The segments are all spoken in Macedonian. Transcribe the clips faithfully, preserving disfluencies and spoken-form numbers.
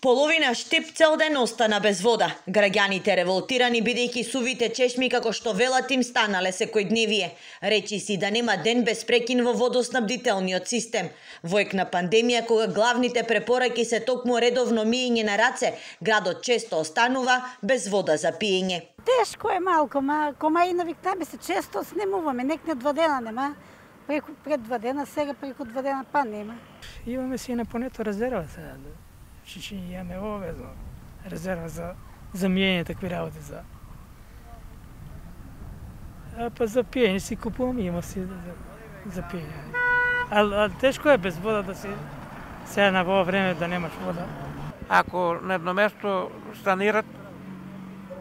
Половина Штип цел ден остана без вода. Граѓаните револтирани бидејќи сувите чешми како што велат им станале секојдневие. Речи си да нема ден без прекин во водоснабдителниот систем. Во ек на пандемија кога главните препораки се токму редовно миење на раце, градот често останува без вода за пиење. Тешко е малку, ма кома и навикнаме се често снимуваме, нек не два дена нема. Преку пред два дена, сега преку два дена па нема. Имаме си на понето резерва сега. Че имаме обезно резерва за, за миење такви работи за. А па за пиење си купуваме, има си за, за пиење. А, а тешко е без вода да си сега на во време да немаш вода. Ако на едно место станират,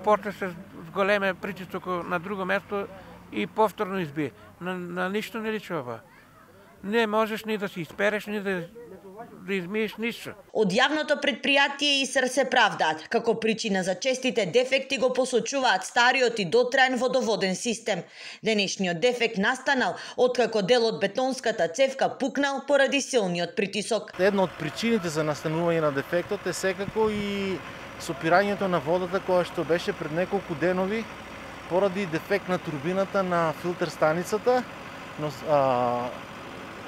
почне се зголеме притисок на друго место и повторно избие. На, на ништо не личи ова. Не можеш ни да си испереш, ни да да измиеш ништо. Од јавното предпријатие ИСР се правдаат. Како причина за честите дефекти го посочуваат стариот и дотраен водоводен систем. Денешниот дефект настанал откако дел од бетонската цевка пукнал поради силниот притисок. Една од причините за настанување на дефектот е секако и сопирањето на водата која што беше пред неколку денови поради дефект на турбината на филтер станицата. Но, а,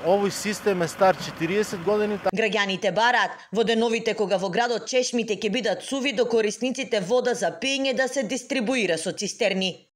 овој систем е стар четириесет години. Граѓаните бараат во деновите кога во градот чешмите ќе бидат суви до корисниците вода за пиење да се дистрибуира со цистерни.